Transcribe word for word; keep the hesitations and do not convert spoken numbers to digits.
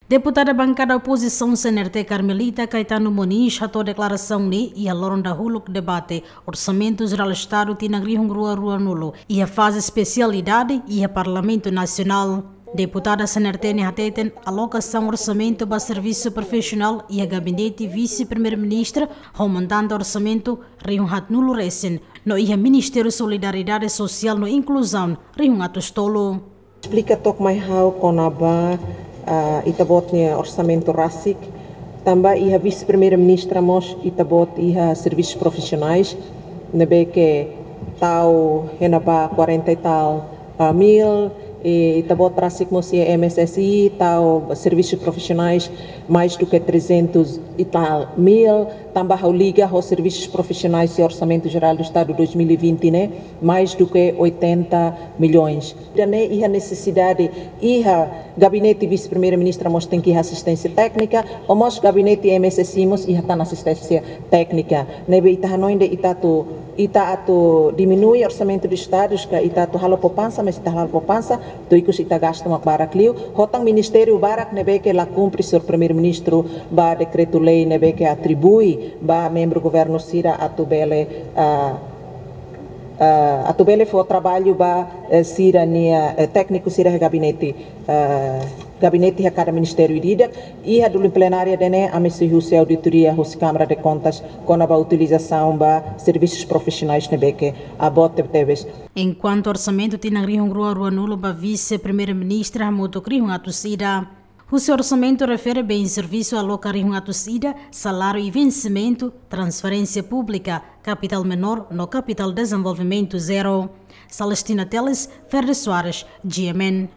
Deputada bankada opozisaun C N R T Carmelita Caetano Moniz hato'o deklarasaun ne'e iha loron dahuluk debate Orsamentu Jerál Estadu tinan rihun rua ruanulu iha faze espesialidade iha Parlamentu Nasionál. Deputada C N R T ne'e hateten alokasaun orsamentu ba servisu profisionál iha gabinete Vise-Primeiru-Ministru ho montante orsamentu rihun haatnulu resin, no iha Ministériu Solidariedade Sosiál no Inkluzaun rihun atus tolu. Esplika took mai ha'u kona-ba, ah, ita-boot nia orsamentu rasik, tanba iha Vise-Primeiru-Ministru mós ita-boot iha servisus profisionais, ne'ebé ke tau iha ne'ebá quarenta e tal, ah, mil, i ita-boot rasik mós iha M S S I, tau servisus profisionais mais do que trezentos e tal mil, tanba ha'u liga ho servisus profisionais iha Orsamentu Jerál do Estadu dois mil e vinte ne'e, mais do que oitenta milhões. Ida-ne'e iha nesesidade, iha gabinete Vise-Primeiru-Ministru mós tenke iha asisténsia téknika, no mós gabinete M S S I mós iha tan asisténsia téknika. Ne'ebé ita hanoin de'it ita atu, ita atu diminui orsamentu do Estadu, ka ita atu halo poupansa, mas ita halo poupansa, tuir ikus ita gasta mak barak liu. Ho tan ministériu barak ne'ebé ke la kumpre señór Primeiru-Ministru ba dekretu-lei ne'ebé ke atribui ba membru governu sira atu bele, ah, ah, atu bele fó traballu ba, eh, sira-nia, eh, tékniku sira iha gabinete, ah, gabinete iha kada ministériu ida-idak. Iha dulu plenária ida-ne'e ami sei husu auditoria husi Câmara de Contas kona-ba utilizasaun ba servisus profisionais ne'ebé ke boot tebetebes. Enkuantu orsamentu tinan rihun rua ruanulu ba Vise-Primeiru-Ministru hamutuk rihun atus ida. Husi orsamentu refere bens e servisus aloka rihun atus ida, saláriu i vensimentu, transferénsia públika, kapitál menór no kapitál dezenvolvimentu zero. Celestina Teles, Ferde Soares, G M N.